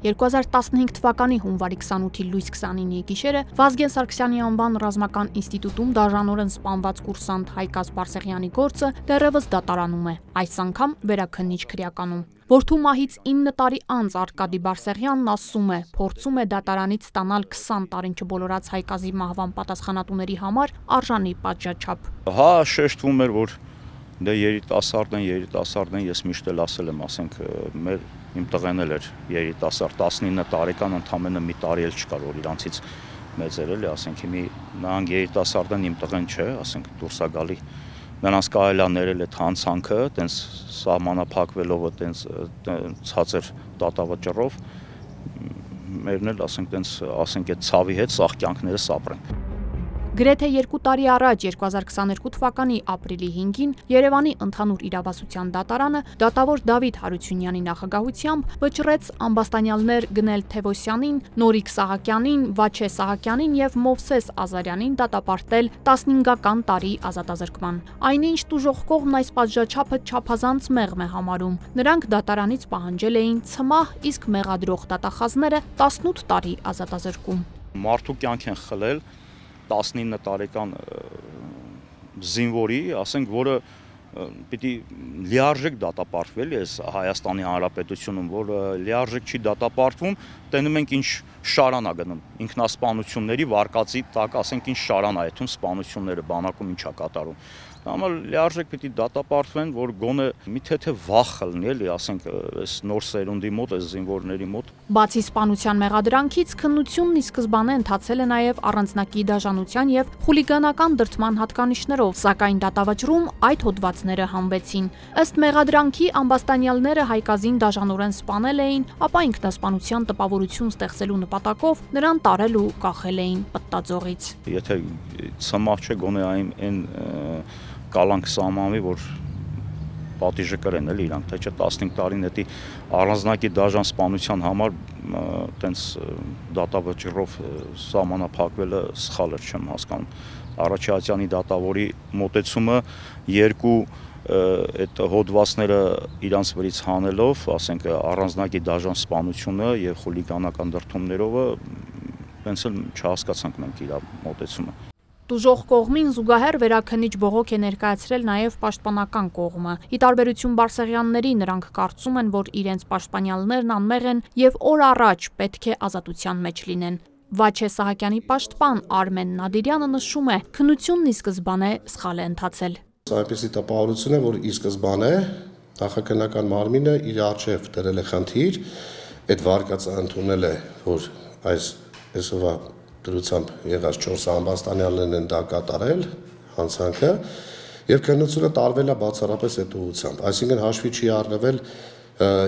2015 թվականի հունվարի 28-ի լույս 29-ի գիշերը Վազգեն Սարգսյանի անվան ռազմական ինստիտուտում դաժանորեն սպանված կուրսանտ Հայկազ Բարսեղյանի գործը դեռևս դատարանում է, այս անգամ վերաքննիչ քրեականում։ Որդու մահից 9 տարի անց Արկադի Բարսեղյանն ասում է, փորձում է դատարանից ստանալ 20 տարին չբոլորած Հայկազի մահվան պատասխանատուների համար արժանի պատժաչափ։ Հա, շեշտվում էր, որ դե երիտասարդ են, ես միշտ էլ ասել եմ, ասենք իմ տղեն էլ էր երիտասարդ, 19 տարեկան, ընդամենը մի տարի էլ չկար, որ իրանցից մեծեր էլի, ասենք նրանք երիտասարդ են, իմ տղեն չէ, ասենք դուրս է գալի։ Նրանց կարելի է ներել այդ հանցանքը, տենց սահմանափակվելով, տենց ցածր դատավճռով, մերն էլ ասենք այդ ցավի հետ սաղ կյանքները սապրեն։ Գրեթե 2 տարի առաջ 2022 թվականի ապրիլի 5-ին Երևանի ընդհանուր իրավասության դատարանը դատավոր Դավիթ Հարությունյանի նախագահությամբ վճռեց ամբաստանյալներ Գնել Թևոսյանին, Նորիկ Սահակյանին, Վաչե Սահակյանին եւ Մովսես Ազարյանին դատապարտել 15-ական տարի ազատազրկման։ Այնինչ տուժող կողմն այս պատժաչափը չափազանց մեղմ է համարում։ Նրանք դատարանից պահանջել էին ցմահ, իսկ մեղադրող դատախազները 18 տարի ազատազրկում։ Մարդու կյանք են խլել 19 տարեկան զինվորի, ասենք, որը պիտի լիարժեք դատապարտվել էս Հայաստանի Հանրապետությունում, որ լիարժեք չի դատապարտվում, տենում ենք ինչ շարան է գնում, ինքնասպանությունների վարկածի տակ, ասենք ինչ շարան է այդում սպանությունները, բանակում ինչ է կատարում։ Համար լիարժեք պիտի դատապարտվեն, որ գոնե մի թե վախ խլնի, էլի, ասենք, այս նոր սերունդի մոտ, այս զինվորների մոտ։ Բացի սպանության մեղադրանքից, քննությունն ի սկզբանե ընթացել է նաև առանձնակի դաժանության եւ խուլիգանական դրդման հատկանիշներով, սակայն դատավճռում այդ հոդվածները հանվեցին։ Ըստ մեղադրանքի ամբաստանյալները Հայկազին դաժանորեն սպանել էին, ապա ինքնասպանության տպավորություն ստեղծելու նպատակով նրան տարել ու կախել էին պտտաձողից։ Եթե ցմահ չէ, գոնե այն կալանք սահմանվի, որ պատիժը կրեն էլի իրանք, թե չէ 15 տարին էդի առանձնակի դաժան սպանության համար տենց դատավճռով սահմանափակվելը սխալ էր, չեմ հասկանում։ Առաջացյանի դատավորի մոտեցումը երկու այդ հոդվածները իրանց վրից հանելով, ասենք առանձնակի դաժան սպանությունը եւ խուլիգանական դրդումներով, հենց էլ չհասկացանք մենք իր մոտեցումը։ Տուժող կողմին զուգահեռ վերաքննիչ բողոք է ներկայացրել նաև պաշտպանական կողմը։ Ի տարբերություն Բարսեղյանների, նրանք կարծում են, որ իրենց պաշտպանյալներն անմեղ են եւ օր առաջ պետք է ազատության մեջ լինեն։ Վաչե Սահակյանի պաշտպան Արմեն Նադիրյանը նշում է, քննությունն ի սկզբանե սխալ է ընթացել։ Այնպիսի տպավորություն է, որ ի սկզբանե նախաքննական մարմինը իր առջև դրել է խնդիր, այդ վարկածը ընդունել է, որ այսօրվա դրությամբ եղած 4 ամբաստանյալներն են դա կատարել, հանցանքը, եւ քննությունը տարվել է բացառապես այդ ուղղությամբ, այսինքն հաշվի չի առնվել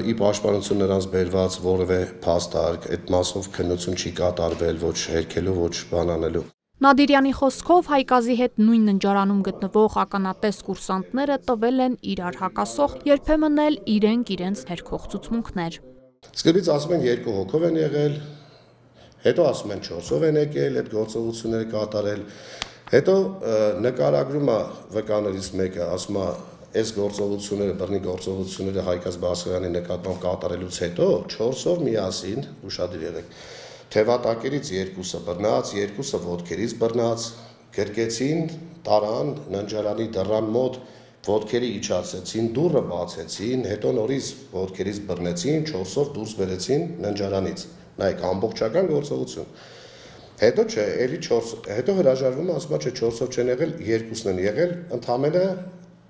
ի պաշտպանություն նրանց բերված որևէ փաստարկ, այդ մասով քննություն չի կատարվել ոչ հերքելու, ոչ բանանելու։ Նադիրյանի խոսքով Հայկազի հետ նույն ննջարանում գտնվող ականատես կուրսանտները տվել են իրար հակասող, երբեմն էլ իրենց ներքող ցուցմունքներ։ Սկզբից ասում են 2 հոգով են եղել, հետո ասում են 4-ով են եկել այդ գործողությունները կատարել, հետո նկարագրում է վկաներից մեկը, ասում է այս գործողությունները, բռնի գործողությունները Հայկազ Բարսեղյանի նկատմամբ կատարելուց հետո 4-ով միասին, ուշադիր եղեք, թևատակերից 2-ը բռնած, 2-ը ոտքերից բռնած, գրկեցին, տարան ննջարանի դռան մոտ, ոտքերի իջացեցին, դուռը բացեցին, հետո նորից ոտքերից բռնեցին, 4-ով դուրս բերեցին ննջարանից։ Նայեք, ամբողջական գործողություն։ Հետո չէ, էլի 4, հետո հրաժարվում ասում է, չէ 4-ով չեն եղել, 2-ն են եղել, ընդհանրապես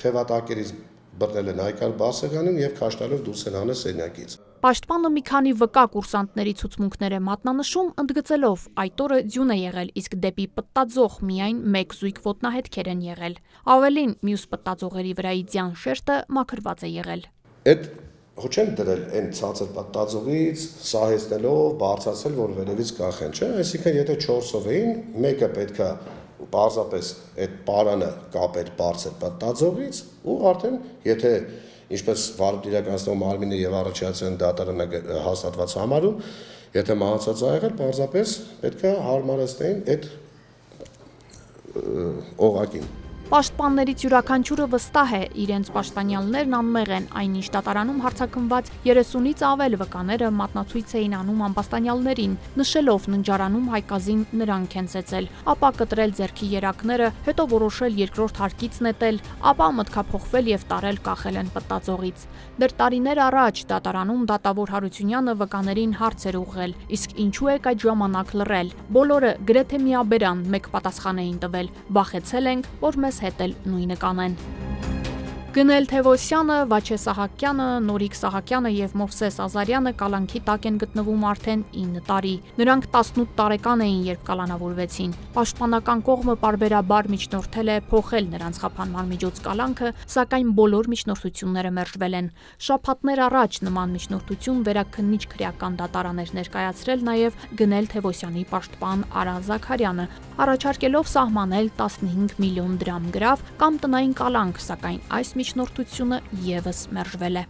թևատակերից բռնել են Հայկազ Բարսեղյանին եւ քաշտալով դուրս են հանել սենյակից։ Պաշտպանը մի քանի վկա կուրսանտների ցուցմունքներ է մատնանշում, ընդգծելով այդ օրը ձյուն է եղել, իսկ դեպի պտտաձող միայն 1 զույգ ոտնահետքեր են եղել։ Ավելին, մյուս պտտաձողերի վրայի ձյան շերտը մաքրված է եղել։ Այդ հո չեն դրել այն ցածր պտտաձողից, սահեցնելով, բարձրացել, որ վերևից կախեն, չէ՞, այսինքն եթե 4-ով էին, մեկը պետքա պարզապես այդ պարանը կապեր բարձր պտտաձողից ու արդեն եթե ինչպես վարույթ իրականացնող մարմինը եւ առաջացան դատարանը հաստատված համարում, եթե մահացած ա եղել, պարզապես պետքա հարմարեցնեին այդ օղակին։ Պաշտպաններից յուրաքանչյուրը վստահ է, իրենց պաշտպանյալներն անմեղ են, այնինչ դատարանում հարձակվված 30-ից ավել վկաները մատնացույց էին անում ամբաստանյալներին, նշելով ննջարանում հայկազին նրանք են ծեծել, ապա կտրել ձեռքի երակները, հետո որոշել երկրորդ հարկից նետել, ապա մտքափոխվել եւ տարել կախել են պտտաձողից։ Դեռ տարիներ առաջ դատարանում դատավոր Հարությունյանը վկաներին հարց էր ուղղել, իսկ ինչու եք այդ ժամանակ լռել։ Բոլորը գրեթե միաբերան մեկ պատասխան էին տվել՝ վախեցել ենք, որ մեզ հետ էլ նույնը կանեն։ Գնել Թևոսյանը, Վաչե Սահակյանը, Նորիկ Սահակյանը եւ Մովսես Ազարյանը կալանքի տակ են գտնվում արդեն 9 տարի։ Նրանք 18 տարեկան էին, երբ կալանավորվեցին։ Պաշտպանական կողմը պարբերաբար միջնորդել է փոխել նրանց խափանման միջոց կալանքը, սակայն բոլոր միջնորդությունները մերժվել են։ Շաբաթներ առաջ նման միջնորդություն վերաքննիչ քրեական դատարան էր ներկայացրել նաեւ Գնել Թևոսյանի պաշտպան Արա Զաքարյանը, առաջարկելով սահմանել 15 միլիոն դրամ գրավ կամ տնային կալանք, սակայն այս միջնորդությունը եւս մերժվել է։